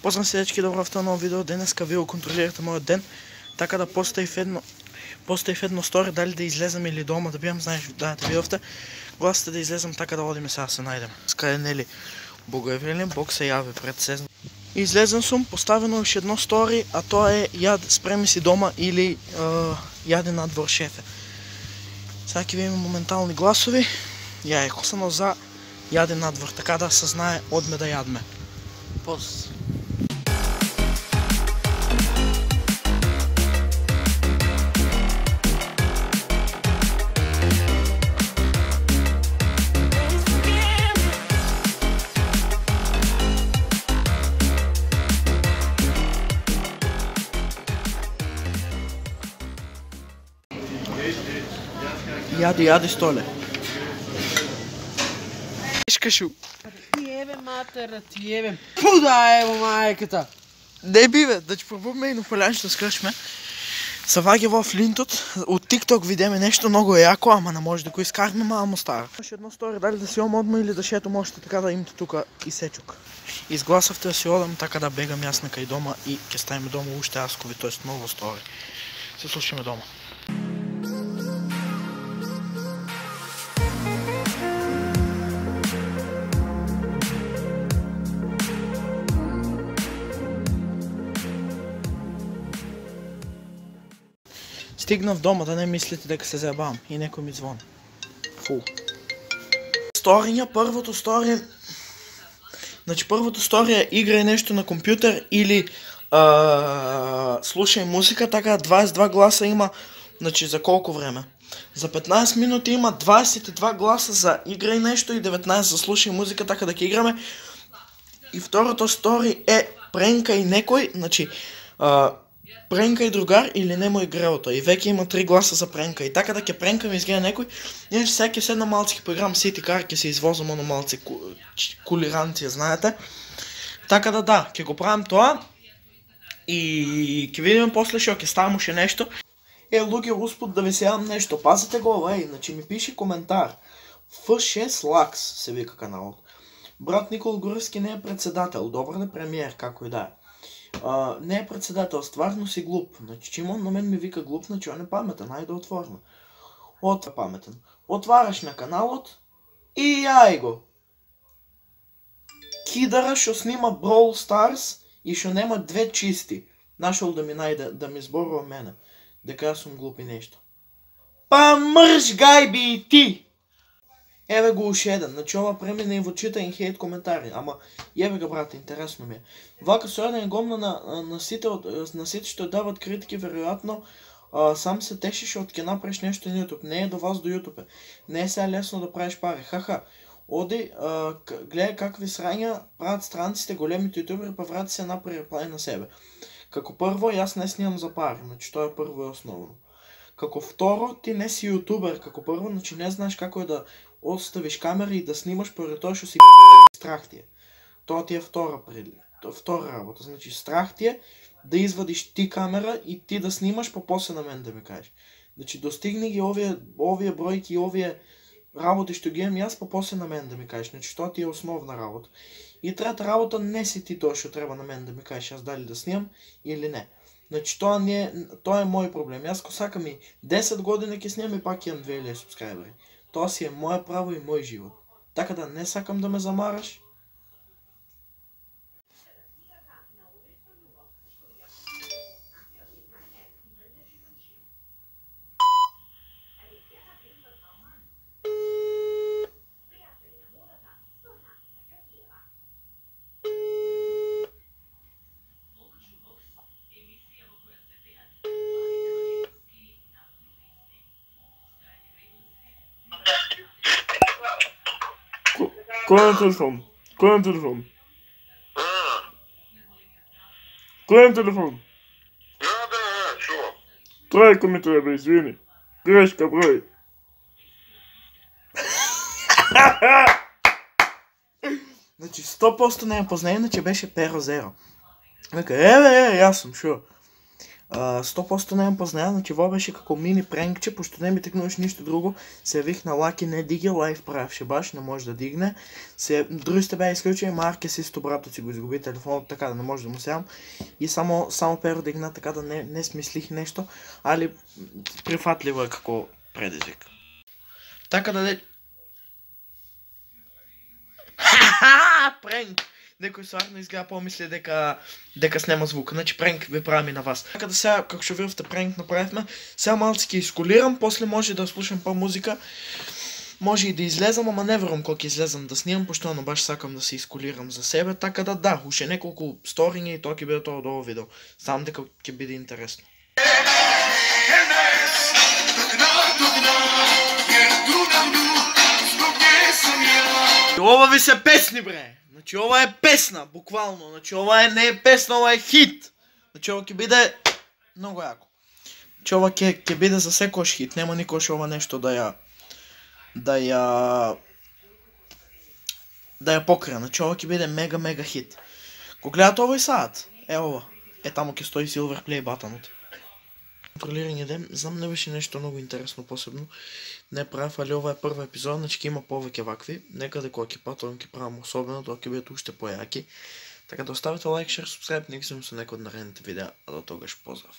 Поздрав се дечки, добро в ново видео. Денеска ви го контролирате мојот ден, така да поставив едно стори дали да излезам или дома да биам, знаеш, да видовте. Гласите да излезам, така да одиме сега се најдем. Скај е нели Богојавлен, Бог се јави пред сезон. Излезен сум, поставено уште едно стори, а тоа е спреми си дома или јаде надвор шефе. Сега ќе видиме моментални гласови. Ја е косано за јаде надвор, така да се знае одме да јадме. Поз. Јади столе. Ишкашу. Ти ебе матера, ти ебе. Пуда ево мајката. Не биве, да ќе пробуваме и полјанчето скршме. Се ваѓа во флинтот, од TikTok видиме нешто многу јако, ама не може да го искарме, мамо стара. Имаш едно стори, дали да си одма или да шетам още така да имате тука и сечок. Изгласавте да си одам, така да бегам јас на кај дома и ќе ставиме дома уште аскови, тоест ново стори. Се слушаме дома. Стигнав дома, да не мислите дека се заебавам и некој ми звони. Фу. Сториња, првото стори... Значи првото стори е играј нешто на компјутер или слушај музика, така 22 гласа има, значи за колку време? За 15 минути има 22 гласа за играј нешто и 19 за слушај музика, така да ќе играме. И второто стори е пренкај некој, значи пренкај другар или немој грелото. И веќе има 3 гласа за пренка. И така да ќе пренкам изгледа некој, иначе сега ќе седна малци ќе поиграм City Car, ќе се извозам оно малци кулиранција, знаете. Така да, ќе го правам тоа. И ќе видиме после што ќе ставам уште нешто. Луѓе, успут да ви се јавам нешто. Пазете го ова, значи ми пише коментар. F6 Lux се вика каналот. Брат Никол Груевски не е председател, добар не премиер, како и да е. Не е председател, стварно си глуп. Значи, че на мен ми вика глуп, значи он е паметен, ајде да отворме. Паметен. Отвараш на каналот и јај го. Кидара што снима Brawl Stars и што нема две чисти. Нашол да ми најде, да ми зборува мене. Дека јас сум глуп и нешто. Па мрш гајби и ти! Еве го уште еден, значи ова премина и во читање хейт коментари, ама јебе га брате, интересно ми е. Вака со еден гомна на сите што дават критики, веројатно сам се тешиш од ќе направиш нешто на YouTube. Не е до вас до YouTube. Не е сега лесно да правиш пари. Хаха, оди, гледај какви срања прават странците, големите ютубери, па врати се направи пари на себе. Како прво, јас не снимам за пари, значи тоа е прво и основно. Како второ, ти не си ютубер, како прво, значи не знаеш како е да оставиш камера и да снимаш поради тоа што си страх ти е. Тоа ти е втора работа, значи страх ти е да извадиш ти камера и ти да снимаш, па после на мен да ми кажеш. Значи достигни ги овие бројки и овие работи што ги имам јас, па после на мен да ми кажеш. Значи тоа ти е основна работа. И трета работа, не си ти тоа што треба на мен да ми кажеш јас дали да снимам или не. Значи тоа е мој проблем. Јас ко сакам и 10 години ќе снимам и пак имам 2000 субскрајбери. Тоа си е моје право и мој живот. Така да не сакам да ме замараш. Кој е телефон? Кој е телефон? Кој е телефон? Шо? Тројка ми треба, извини. Грешка број. Значи 100% не ја познај, иначе беше Перо Зеро. Века, еве, јас сум, шо? 100% не познаја, значи ова беше како мини пренкче, пошто не ми текнуваш ништо друго, се явих на Лаки, не диги, лайф правеше баш, не може да дигне. Другите беа исклучени, Маркес исто братот си го изгуби телефонот, така да не може да му сеам. И само Перо дигна, така да не смислих нешто, али прифатливо е како предизвик. Така да пренк! Некој стварно изгледа помисли дека снема звук, значи пренк ви правим и на вас. Така да сега, како што видовте пренк направивме, сега малци ќе исколирам, после може да слушам па музика, може и да излезам, ама не верувам кога ќе излезам да снимам, пошто баш сакам да се исколирам за себе, така да, уште неколку сториња и тоа ќе биде тоа од ово видео. Знам дека ќе биде интересно. Ова ви се песни, бре! Значи ова е песна, буквално, значи ова не е песна, ова е хит. Значи ова ќе биде многу јако. Значи ова ќе биде за секојаш хит, нема никош ова нешто да ја покрие, значи ова ќе биде мега хит. Ко гледате овој саат, ова, таму ќе стои Silver Play батанот. Контролирање дем, знам не беше нешто многу интересно посебно, не правев, али ова е прва епизода, значи ќе има повеќе вакви, некаде кога ќе патувам ќе правам особено, тоа ќе бидат уште појаки. Така да оставите лайк, шер, субскрайб, не се со некој од наредните видеа, а до тогаш поздрав.